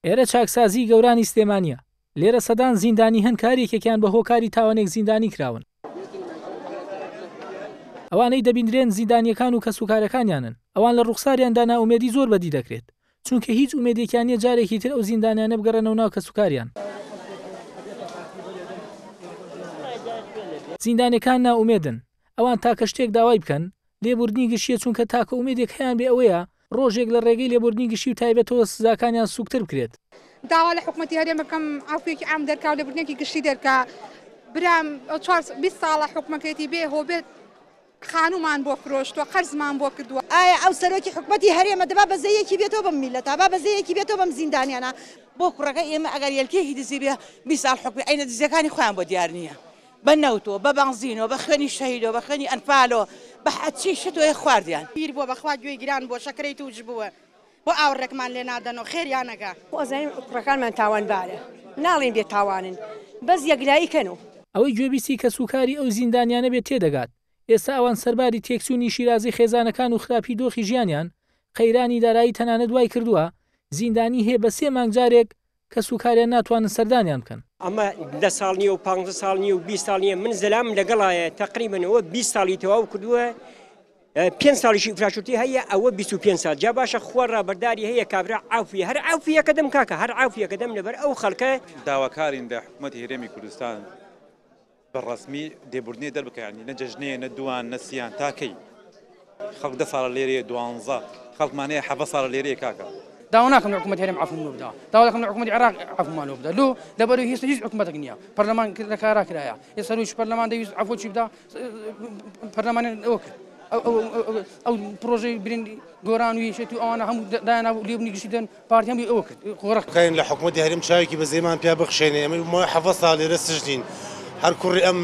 ئێرە چاکسازیی گەورانی سلێمانییە، لێرە سەدان زیندانی هەن کە هەر یەکێکیان بە هۆکاری تاوانێک زیندانی کراون. ئەوانەی دەبیندرێن زیندانییەکان و کەسوکارەکانیانن، ئەوان لە ڕووخساریاندا نائومێدی زۆر بەدی دەکرێت، چونکە هیچ ئومێدێکیان نییە جارێکی تر ئەو زیندانیانە بگەڕێنەوە ناو کەسوکاریان. زیندانییەکان نائومێدن، ئەوان تاکە شتێک داوای بکەن، لێبوردنی گشتییە چونکە تاکە ئومێدێک هەیانبێ ئەوەیە ڕۆژێک لە ڕێگەی لێبوردنی گشتی و تایبەتەوە سزاکانیان سوکتر بکرێت. داوا لە حکومەتی هەرێم بکەم عەفویەکی عام دەرکا و لێبوردنێکی گشتی دەرکا برام 20 ساڵە حکومەکەیەتی بێ هۆ بێ خانوومان بۆ فرۆشتووە قەرزمان بۆ کردووە. ئایا ئەو سەرۆکی حکومەتی هەرێمە دەبا بەزەیەکی بێتەوە بەم میللەتە با بەزەیەکی بێتەوە بەم زیندانیانە. بۆ کوڕەکەی ئێمە ئەگەر یەلکێکی دزی بێ 20 ساڵ حوکمی ئەینە دزیەکانی خۆیان بۆ دیار نییە. بە نەوتۆ بە بەنزینۆ بە خوێنی شەهیدۆ بە خوێنی ئەنفالۆ بە هەرچی شتۆیە خواردیان. پیر بووە بەخوا گوێی گران بووە شەکرەی تووش بووە بۆ ئاوڕێکمان لێ نادەنەوە خێریان ئەکا. خۆ ئەزانین کوڕەکانمان تاوانبارە ناڵێین بێ تاوانن بەس یەکلایی کەنۆ. ئەوەی گوێبیستی کەسوکاری ئەو زیندانیانە بێت تێدەگات ئێستا ئەوان سەرباری تێکچوونی شیرازەی خێزانەکان و خراپی دۆخی ژیانیان، قەیرانی دارایی تەنانەت وای کردووە زیندانی هەیە بە سێ مانگ جارێک کەسوکاریان ناتوانن سەردانیان بکەن. ئەمە دە ساڵ نییە و پانزە ساڵ نییە و 20 ساڵ نییە، من زەلامم لەگەڵایە تەقریبەن ئەوە 20 ساڵی تەواو کردووە، پێنج ساڵیشی ئیفراشورتی هەیە ئەوە 25 ساڵ جا باشە خوا ڕابەرداری هەیە کابرا عافیە هەر عافیەکە دەم کاکە هەر عافیەکە دەم لەبەر ئەو خەڵکە. داواکارین لە حکومەتی هەرێمی کوردستان بە ڕەسمی لێبوردنێ دەربکا یانی نە جەژنێ نە دوان نە سیان تا کەی خەڵک دە ساڵە لێرەیە دوانزە خەڵکمان هەیە حەڤە ساڵە لێرەیە کاکە. داوا ناکەم لە حکومەتی هەرێم عەفوم لۆ بدا داوا دەکەم لە حکومەتی عێراق عەفومان لۆ بدا لۆ لەبەرەوەی هیچ هیچ حکومەتێک نییە پەرلەمان لە کارا کرایە ئێ سەرۆکی پەرلەمان دەویست عەفوەکی بدا پەرلەمان ئەوە کرد ئەو پرۆژەی برین گۆران و یەکێتی و ئەوانە هەموو دایانا لێبنی گشتی دەن پارتی هەمووی ئەوە کرد خۆڕەک. کاین لە حکومەتی هەرێم چاوێکی بەزەیمان پیا بخشێنێ ئێمە ماوەی حەڤە ساڵ لێرە سجنین هەر کوڕی ئەم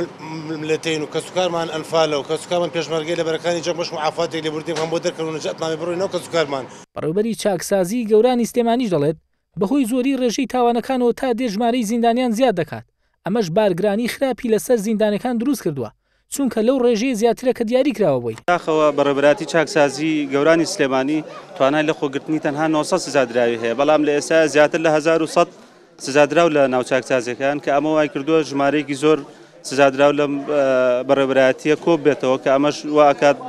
ملەتەین و کەسوکارمان ئەنفالە و کەسوکارمان پێشمەرگەی لە بەرەکانی جەنگ بەشکم عافاتێک لێبوردنی بکەن بۆ دەرکەن و نەجاتمان بێ بڕۆینەوە کەسوکارمان. بەڕێوبەری چاکسازیی گەورانی سلێمانیش دەڵێت، بەهۆی زۆری رێژەی تاوانەکانەوە تا دێت ژمارەی زیندانیان زیاد دەکات، ئەمەش بارگرانی خراپی لەسەر زیندانەکان دروستکردووە، چونکە لەو ڕێژەیە زیاترە کە دیاریکراوە بۆی. بەداخەوە بەڕێوەبەرایەتی چاکسازی گەورانی سلێمانی توانای لەخۆگرتنی تەنها 900 سزادراوی هەیە، بەڵام لە ئێستایا زیاتر لە 1100 سزادراو لە ناو چاکسازیەکان کە ئەمە وایکردووە ژمارەیەکی زۆر سزادراو لەم بەڕێوەبەرایەتیە کۆببێتەوە کە ئەمەش وا ئەکات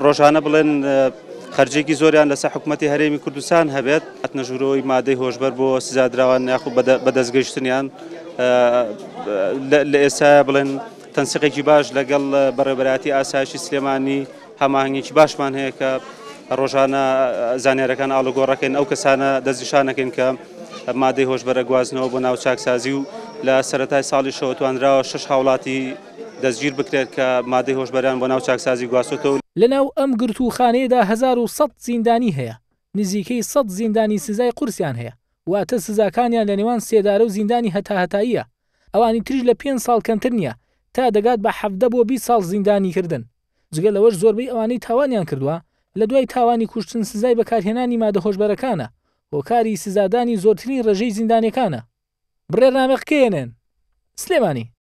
ڕۆژانە بڵێن خەرجێکی زۆریان لەسەر حکوومەتی هەرێمی کوردستان هەبێت. هاتنە ژوورەوەی مادەی هۆشبەر بۆ سزادراوان یاخود بەدەستگەیشتنیان لە ئێستایا بڵێن تەنسیقێکی باش لەگەڵ بەڕێوەبەرایەتی ئاسایشی سلێمانی هەماهەنگێکی باشمان هەیە کە ڕۆژانە زانیارەکان ئاڵوگۆڕەکەین ئەو کەسانە دەستنیشانەکەین کە مادەی هۆشبەر ئەگوازنەوە بۆ ناو چاکسازی و لە سەرەتای ساڵیشەوە توانراوە شەش هاوڵاتی دەستگیر بکرێت کە مادەی هۆشبەریان بۆ ناو چاکسازی گواستۆتەوە. لەناو ئەم گرتووخانەیەدا 1100 زیندانی هەیە، نزیکەی 100 زیندانی سزای قورسیان هەیە، واتە سزاکانیان لە نێوان سێدارە و زیندانی هەتاهەتاییە، ئەوانی تریش لە پێنج ساڵ کەمتر نییە، تا دەگات بە 17 بۆ 20 ساڵ زیندانیکردن. جگە لەوەش زۆربەی ئەوانەی تاوانیان کردووە، لە دوای تاوانی کوشتن سزای بەکارهێنانی مادە هۆشبەرەکانە، هۆکاری سزادانی زۆرترین ڕێژەی زیندانیەکانە. بڕیارنامە قکەیەنێن. سلێمانی.